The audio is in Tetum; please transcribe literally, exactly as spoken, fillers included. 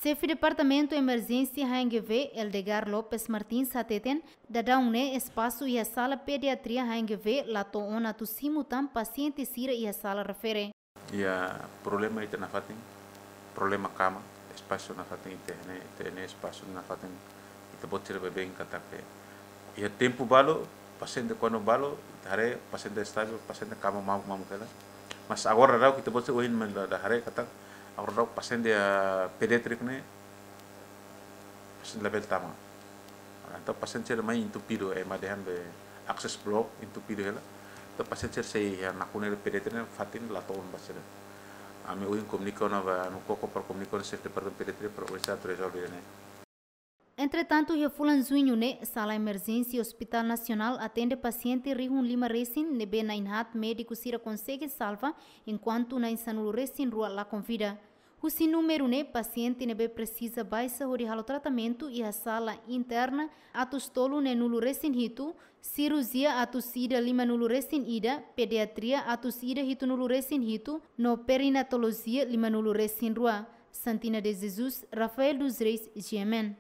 Xefe Departamentu Emerjénsia H N G V, Eldegar Lopes Martins, hateten, daudaun ne'e espasu iha sala pediatria H N G V la to'o ona atu simu tan pasiente sira iha sala refere. Iha problema ita nafatin, problema kama, espasu nafatin ita ne'e, ita ne'e espasu nafatin, ita-boot sira baibain katak iha tempu balu, pasiente kuandu balu, ita haree pasiente estavel, pasiente kama mamuk-mamuk hela. Mas agora daudaun ita-boot sira ohin mai la haree katak, agora daudaun pasiente, ah, pediatrik ne'e, pasiente labele tama. Entaun pasiente sira mai entupidu, ema dehan be access block entupidu hela. Entaun pasiente sira sei iha nakonu pediatria fatin la to'o ona ba sira. Ami ohin komunika ona ba, ami koko para komunika ona xefe departamentu pediatria para oinsá atu rezolve ne'e. Entretantu, iha fulan Juñu ne'e, sala emerjénsia Hospital Nasionál atende pasiente rihun lima resin ne'ebé na'in haat médiku sira konsege salva, enkuantu na'in sanulu resin rua lakon vida. Husi númeru ne'e, pasiente ne'ebé presiza baixa hodi halo tratamentu iha sala interna atus tolu neenulu resin hitu, sirurjia atus ida limanulu resin ida, pediatria atus ida hitunulu resin hitu, no perinatolojia limanulu resin rua. Santina de Jesus, Rafael dos Reis, G M N.